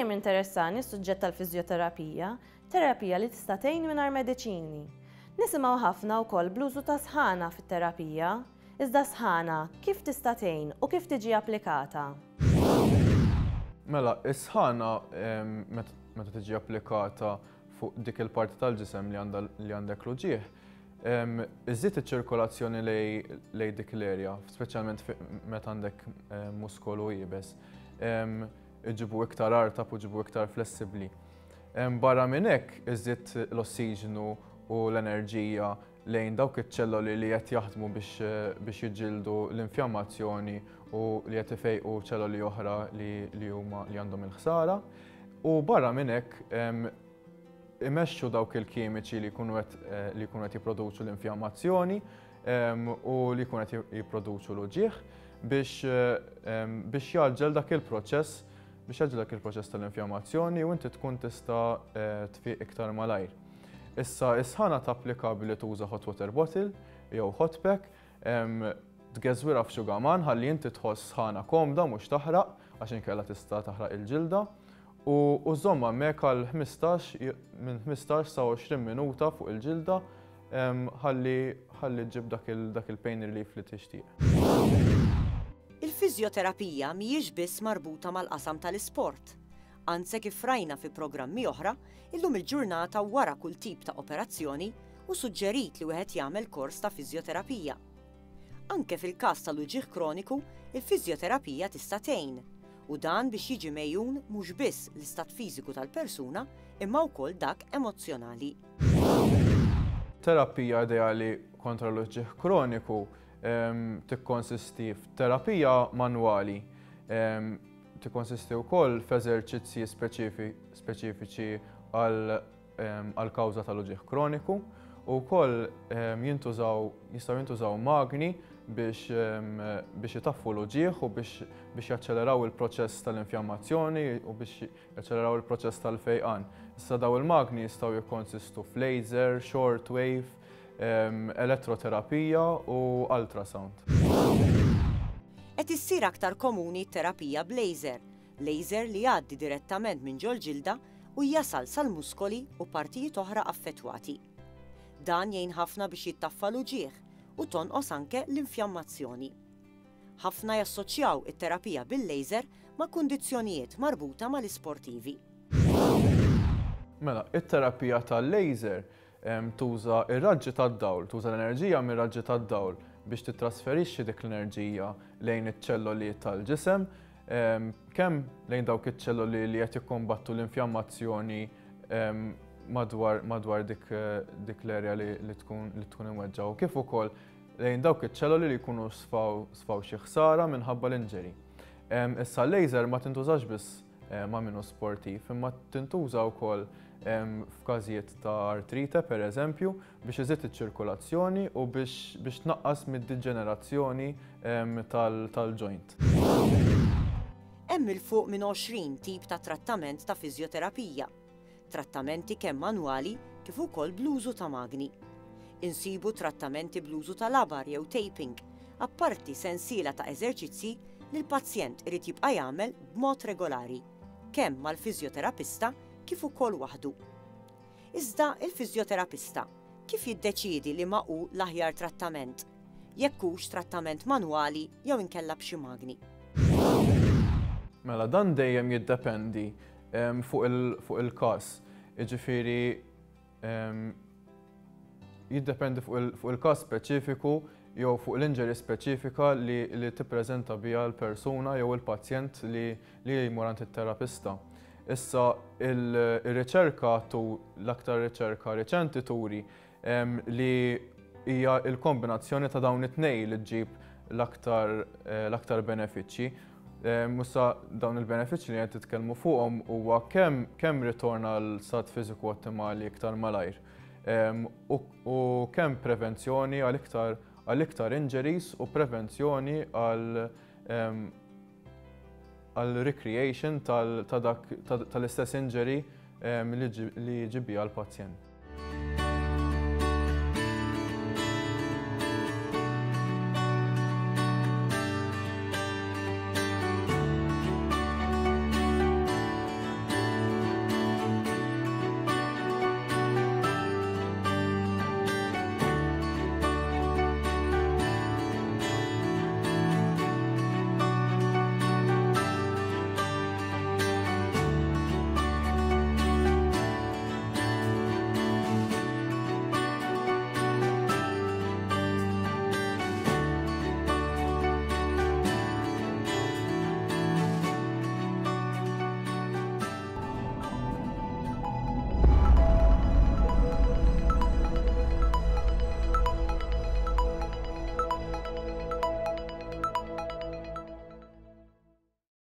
Dejjem interessani s-suġġett tal-fiżjoterapija, terapija li tista' tgħin mingħajr mediċini. Nisimgħu ħafna wkoll bl-użu ta' sħana fit-terapija. Iżda s-sħana kif tista' tgħin u kif tiġi applikata? Mela, is-sħana meta tiġi applikata fuq dik il-parti tal-ġisem li għandek l-uġigħ, iżżid iċ-ċirkolazzjoni lejn dik l-area, speċjalment meta għandek muskolu iebes. Iġibu iktar artab u ġibu iktar flessibbli. Barra minn hekk, iżżid l-ossiġnu u l-enerġija lejn dawk iċ-ċelloli li qed jaħdmu biex jiġġieldu l-infjammazzjoni u li qed ifejqu ċelloli oħra li huma li għandhom il-ħsara. U barra minn hekk imexxu dawk il-kimiċi li jkunu qed li jkunu qed jipproduċu l-infjammazzjoni u li jkunu qed jipproduċu l-uġigħ biex biex jgħaġġel dak il-proċess biex jgħaġġel dak il-proċess tal-infjammazzjoni u inti tkun tista' tfiq iktar malajr. Issa is-sħana tapplika billi tuża hot water bottle jew hot pack, tgeżwirha f'xugaman ħalli inti tħoss sħana komda mhux taħraq għax inkella tista' taħraq il-ġilda u żżommha hemmhekk għal 15 minn 15 sa 20 minuta fuq il-ġilda ħalli ħalli ġġib dak il-pain relief li tixtieq. Il-fiżjoterapija mhijiex biss marbuta mal-qasam tal-isport. Anze kif rajna fi programmi oħra, illum il-ġurnata wara kull tip ta' operazzjoni hu suġġerit li wieħed jagħmel kors ta' fiżjoterapija. Anke fil-każ tal-uġigħ kroniku, il-fiżjoterapija tista' tgħin, u dan biex jiġi megħjun mhux biss l-istat fiżiku tal-persuna imma wkoll dak emozzjonali. Terapija ideali kontra l-uġigħ kroniku tikkonsisti f'terapija manwali, tikkonsisti wkoll f'eżerċizzji speċifiċi għall-kawża tal-uġigħ kroniku u wkoll jintużaw jistgħu jintużaw magni biex biex itaffu l-uġigħ u biex biex jaċċeleraw il-proċess tal-infjammazzjoni u biex jaċċeleraw il-proċess tal-fejqan. Issa daw il-magni jistgħu jikkonsistu f'laser, short wave, elettroterapija u ultrasound. Qed issir aktar komuni t-terapija b'laser, laser li jgħaddi direttament minn ġol-ġilda u jasal sal-muskoli u partijiet oħra affettwati. Dan jgħin ħafna biex jittaffa l-uġigħ u tonqos anke l-infjammazzjoni. Ħafna jassoċjaw it-terapija bil-laser ma' kundizzjonijiet marbuta mal-isportivi. Mela, it-terapija tal-laser tuża r-raġġi tad-dawl, tuża l-enerġija mir-raġġi tad-dawl biex tittrasferixxi dik l-enerġija lejn iċ-ċelloli tal-ġisem, kemm lejn dawk iċ-ċelloli li qed jikkombattu l-infjammazzjoni madwar madwar dik dik l-erja li tkun li tkun imweġġa' u kif ukoll lejn dawk iċ-ċelloli li jkunu sfaw sfaw xi ħsara minħabba l-injury. Issa l-laser ma tintużax biss ma' min hu sportiv, imma tintuża wkoll f'każijiet ta' artrite pereżempju biex iżid iċ-ċirkulazzjoni u biex biex tnaqqas mid-diġenerazzjoni tal-joint. Hemm 'il fuq minn 20 tip ta' trattament ta' fiżjoterapija. Trattamenti kemm manwali kif ukoll bl-użu ta' magni. Insibu trattamenti bl-użu ta' labar jew taping, apparti sensiela ta' eżerċizzji li l-pazjent irid jibqa' jagħmel b'mod regolari, kemm mal-fiżjoterapista kif ukoll waħdu. Iżda il-fiżjoterapista kif jiddeċiedi liema hu l-aħjar trattament, jekk hux trattament manwali jew inkella b'xi magni? Mela dan dejjem jiddependi fuq il-każ. Jiġifieri jiddependi fuq il-każ speċifiku jew fuq l-injury speċifika li tippreżenta biha l-persuna jew il-pazjent li jmur għand it-terapista. Issa ir-riċerka tu l-aktar riċerka riċenti turi li hija l-kombinazzjoni ta' dawn it-tnejn li ġġib l-aktar l-aktar benefiċċji. Issa dawn il-benefiċċji li qed titkellmu fuqhom huwa kemm kemm ritorn għal stat fiżiku ottimali iktar malajr u kemm prevenzjoni għal iktar għal iktar injuries u prevenzjoni għal għal recreation tal-istess injury li ġie biha l-pazjent.